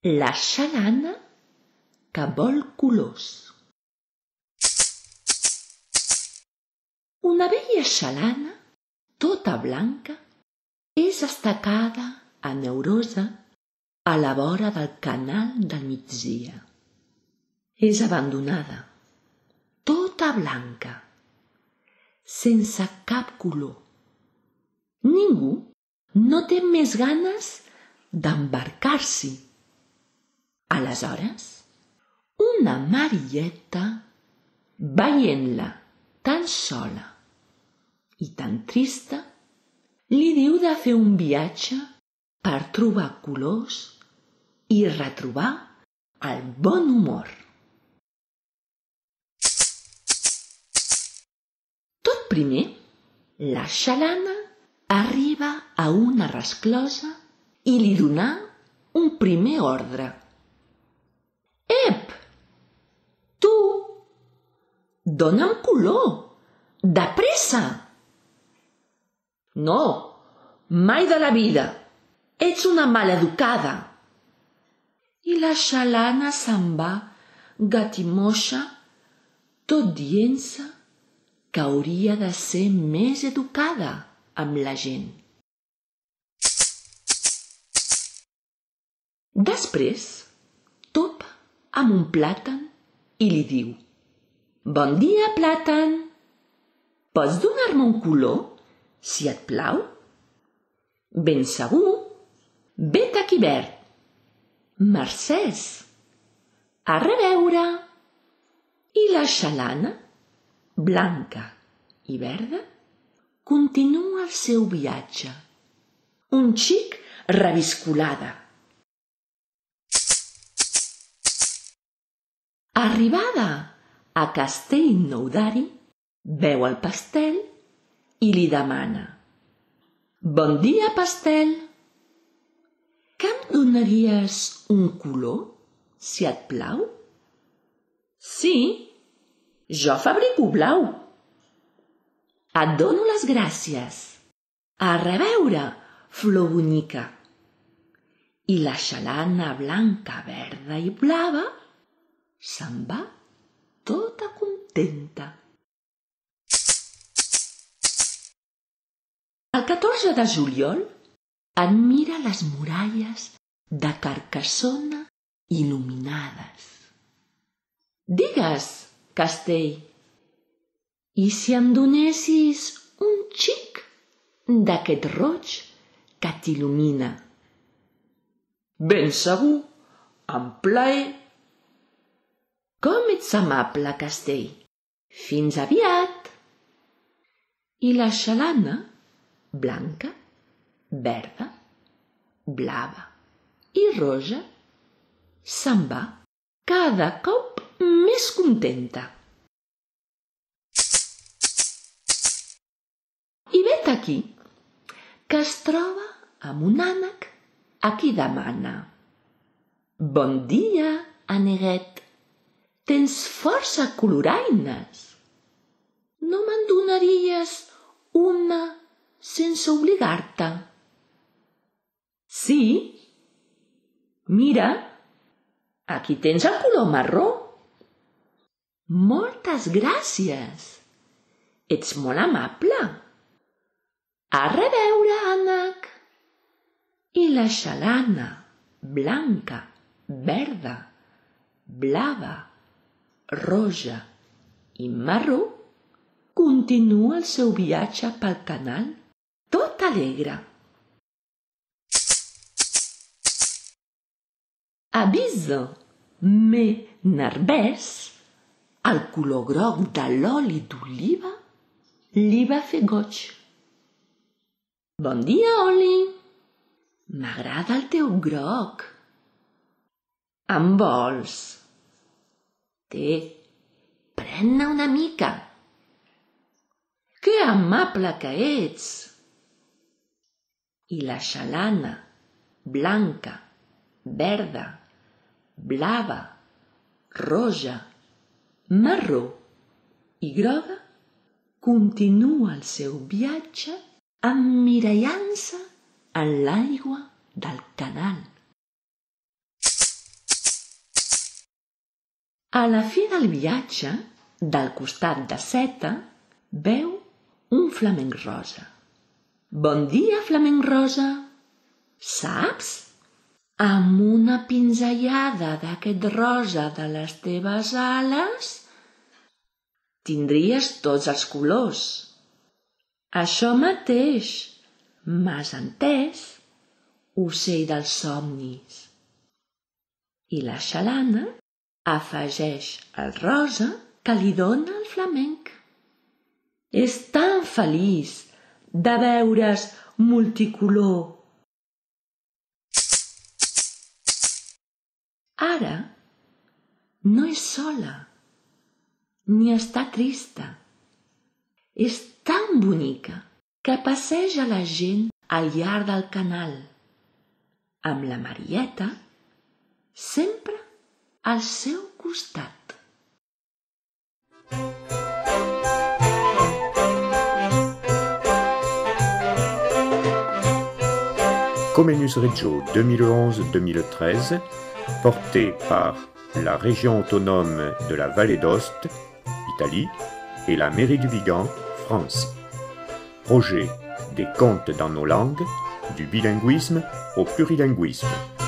La xalana que vol colors. Una vella xalana, tota blanca, és estacada a neurosa a la vora del canal del migdia. És abandonada, tota blanca, sense cap color. Ningú no té més ganes d'embarcar-s'hi. Aleshores, una marilleta, veient-la tan sola i tan trista, li diu de fer un viatge per trobar colors i retrobar el bon humor. Tot primer, la xalana arriba a una resclosa i li donà un primer ordre. Ep! Tu! Dóna'm color! De pressa! No, mai de la vida! Ets una maleducada! I la xalana se'n va gatimoixa, tot dient-se que hauria de ser més educada amb la gent. Després topa amb un plàtan i li diu: «Bon dia, plàtan! Pots donar-me un color, si et plau?» «Ben segur! Vet aquí verd!» «Mercès! A reveure!» I la xalana, blanca i verda, continua el seu viatge, un xic reviscolada. Arribada a Castellnou d'Ari, veu el pastel i li demana: «Bon dia, pastel! Que em donaries un color, si et plau?» «Sí, jo fabrico blau!» «Et dono les gràcies! A reveure, flor bonica!» I la xalana blanca, verda i blava se'n va tota contenta. El 14 de juliol admira les muralles de Carcassona il·luminades. «Digues, Castell, i si em donessis un xic d'aquest roig que t'il·lumina?» «Ben segur, amb plaer!» «Com ets amable, Castell! Fins aviat!» I la xalana, blanca, verda, blava i roja, se'n va cada cop més contenta. I vet aquí que es troba amb un ànec a qui demana: «Bon dia, aneguet! Tens força coloraines. No me'n donaries una sense obligar-te?» «Sí, mira, aquí tens el color marró!» «Moltes gràcies! Ets molt amable! A reveure, ànec!» I la xalana, blanca, verda, blava, roja i marró, continua el seu viatge pel canal tot alegre. Avisa, me nervès, el color groc de l'oli d'oliva li va fer goig. «Bon dia, oli! M'agrada el teu groc. En vols? Té, pren-ne una mica. Que amable que ets!» I la xalana, blanca, verda, blava, roja, marró i groga, continua el seu viatge emmirallant-se en l'aigua del canal. A la fi del viatge, del costat de Seta, veu un flamenc rosa. Bon dia, flamenc rosa. Saps? Amb una pinzellada d'aquest rosa de les teves ales tindries tots els colors. Això mateix, m'has entès, ocell dels somnis. I la xalana afegeix el rosa que li dóna el flamenc. És tan feliç de veure's multicolor. Ara no és sola, ni està trista. És tan bonica que passeja la gent al llarg del canal, amb la Marieta sempre al seu costat. Comenius Reggio 2011-2013, porté par la région autonome de la Vallée d'Aoste, Italie, et la mairie du Vigan, France. Projet des contes dans nos langues, du bilinguisme au plurilinguisme.